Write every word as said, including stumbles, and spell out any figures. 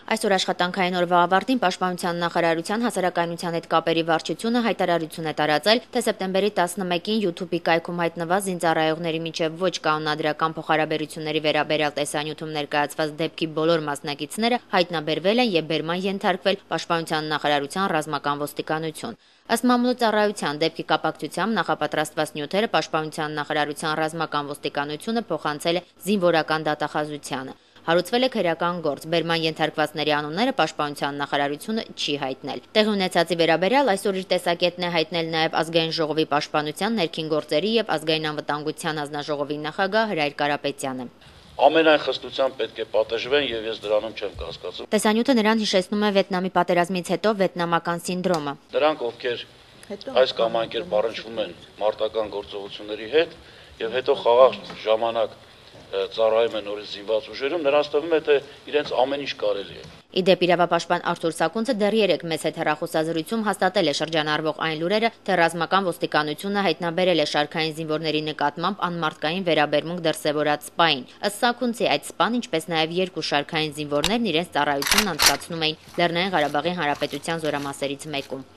Այսօր աշխատանքային օրվա ավարտին Պաշտպանության նախարարության հասարակայնության հետ կապերի վարչությունը հայտարարություն է տարածել, թե սեպտեմբերի տասնմեկին YouTube-ի կայքում հայտնված զինծառայողների միջև ոչ կանոնադրական փոխհարաբերությունների վերաբերյալ տեսանյութում ներկայացված դեպքի բոլոր մասնակիցները հայտնաբերվել են եւ բերման ենթարկվել Պաշտպանության նախարարության ռազմական ոստիկանություն։ Ըստ մամուլի ծառայության դեպքի կապակցությամբ նախապատրաստված նյութերը Պաշտպանության նախարարության ռազմական ոստիկանությունը փոխանցել է զինվորական դատախազությանը։ Հարուցվել է քրեական գործ, բերման ենթարկվածների անունները Պաշտպանության նախարարությունը չի հայտնել։ Տեղի ունեցածի վերաբերյալ այսօր իր տեսակետն է հայտնել նաև Ազգային ժողովի պաշտպանության, ներքին գործերի եւ ազգային անվտանգության հանձնաժողովի նախագահ Հրայր Կարապետյանը։ Ամենայն խստությամբ պետք է պատժվեն եւ ես դրանում չեմ կասկածում։ Տեսանյութը նրան հիշեցնում է Վիետնամի պատերազմից հետո վիետնամական սինդրոմը։ Դրանք, ովքեր այս կամ այն կերպ առնչվում են մարտական գործողությունների հետ եւ հետո խաղաղ ժամանակ ծառայում են նորից զինված ուժերում, նրանց թվում է, թե իրենց ամեն ինչ կարելի է։ Իդեպ իրավապաշտպան Արթուր Սակունցը դեռ երեկ մեծ հետ հեռախոսազրույցում հաստատել է շրջանառվող այն լուրերը, թե ռազմական ոստիկանությունը հայտնաբերել է շարքային զինվորների նկատմամբ անմարտկային վերաբերմունք դրսևորած սպային։ Ըստ Սակունցի այդ սպան, ինչպես նաև երկու շարքային զինվորներն իրենց ծառայությունն անցկացնում էին Լեռնային Ղարաբաղի Հանրապետության զորամասերից մեկում։